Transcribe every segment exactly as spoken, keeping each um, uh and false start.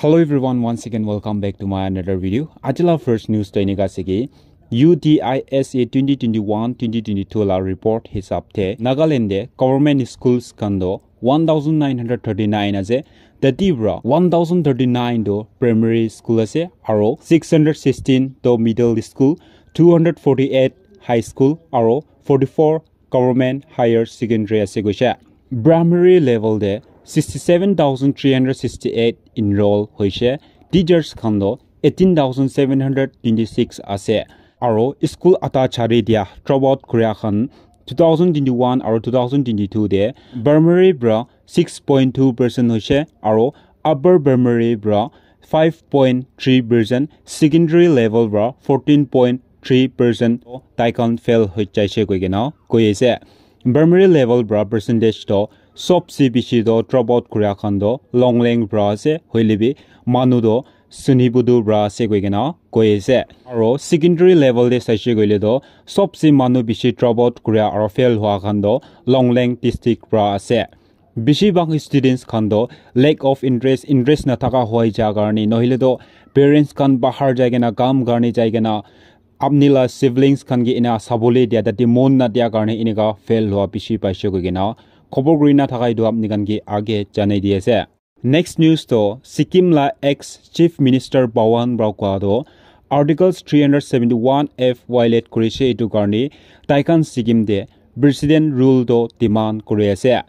Hello everyone, once again welcome back to my another video. Aji la first news to enika ase ki U T I S A twenty twenty-one twenty twenty-two la report hisab te Nagaland de government schools khan do one thousand nine hundred thirty-nine ase. Tati pra one thousand thirty-nine do primary school ase, aro six hundred sixteen do middle school, two hundred forty-eight high school, aro forty-four government higher secondary ase koise. Primary level de sixty-seven thousand three hundred sixty-eight enroll hoise. Teachers khan do eighteen thousand seven hundred twenty-six ase. Aro school ata chari dia, drop out kuria khan two thousand twenty-one aro two thousand twenty-two de primary pra six point two percent hoise, aro upper primary pra five point three percent, secondary level pra fourteen point three percent tai khan fail hoi jaise koi kena koi ase. Primary level pra percentage to sobse bishi to drop out kuria khan to Longleng pra ase, hoile bi manu to Suniputu pra ase koi kena koi ase. Aro secondary level de saise koile to sobse manu bishi drop out kuria aro fail hua khan to Longleng district pra ase. Bishi bhag students khan to lack of interest, interest na thaka hoi ja karne, nohile to parents khan bahar jai kena, kam karne jai kena, apni la siblings khan ke ena sabole dia, tate mon na dia karne eneka fail hua bishi paise koi kena khobor kuri na thaka etu apni khan ke age janai di ase. Next news to Sikkim la ex Chief Minister Pawan pra koa to Articles three hundred seventy-one F violate kurise, etu karne tai khan Sikkim de President rule to demand kuri ase.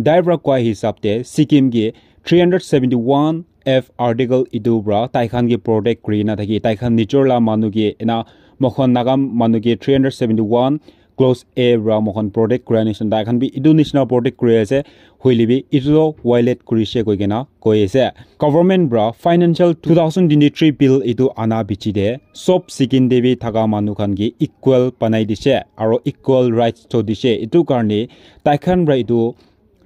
Tai pra koa hisab te Sikkim ke three hundred seventy-one F article etu pra tai khan ke protect kuri na thaki, tai khan nijor la manu ke ena moikhan Naga manu ke three hundred seventy-one clause A pra moikhan protect kura nishina, tai khan bi etu nishina protect kuri ase, hoile bi etu to violate kurise koi kena koi ase. Government pra financial two thousand twenty-three bill etu ana bichi de sob Sikkim de bi thaka manu khan ke equal banai dise aro equal rights to dise. Etu karne tai khan pra etu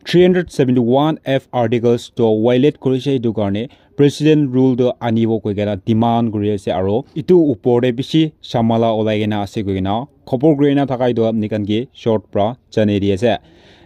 three hundred seventy-one F articles to violate kurise, etu karne president rule to anibo koi kena demand kuri ase, aro etu upor de bishi shamala olai kena ase koi kena khobor kuri na thaka etu apni khan ke short pra janai di ase.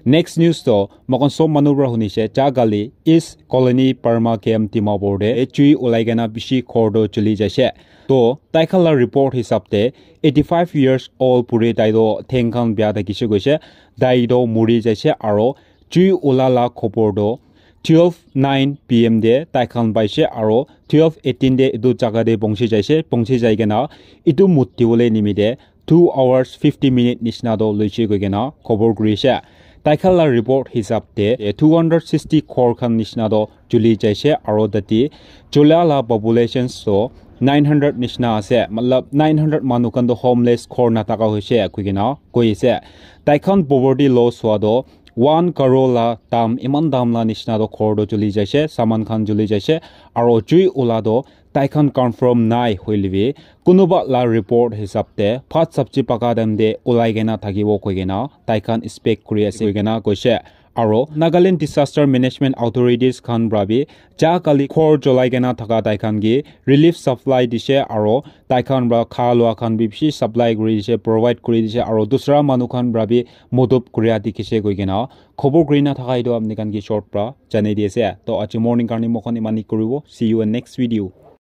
Next news to moikhan sob manu pra hunise, ja kali East Colony Parma Camp Dimapur de chui olai kena bishi ghor to juli jaise. To tai khan la report hisab te eighty-five years old puri tai to theng khan bia thakise koise, tai to muri jaise, aro chui ola la khobor to twelve nine P M de tai khan paise, aro twelve eighteen de etu jaga de pongsi jaise, pongsi jai kena etu mut dibole nimite two hours fifty minute nishina to loise koi kena khobor kurise. Tai khan la report hisab te two hundred sixty ghor khan nishina to juli jaise, aro tate jula la populations to nine hundred nishina ase, matlab nine hundred manu khan to homeless ghor na thaka hoise koi kena koi ase. Tai khan poverty loss hua to one crore la dam, iman dam la nishina to ghor to juli jaise, saman khan juli jaise, aro jui ola to tai khan confirm nai hoile bi kunuba la report hisab te bhat sabji paka time de olai kena thakibo koi kena tai khan expect kuri ase koi kena koise. Aro Nagaland Disaster Management Authorities khan pra bi ja kali ghor jolai kena thaka tai khan ke relief supply dise, aro tai khan pra kha lua khan bi bishi supply kuri dise, provide kuri dise, aro dusra manu khan pra bi modop kuria dikhise koi kena khobor kuri na thaka etu apni khan ke short pra janai di ase. To aji morning karne moikhan imani kuribo. See you in next video.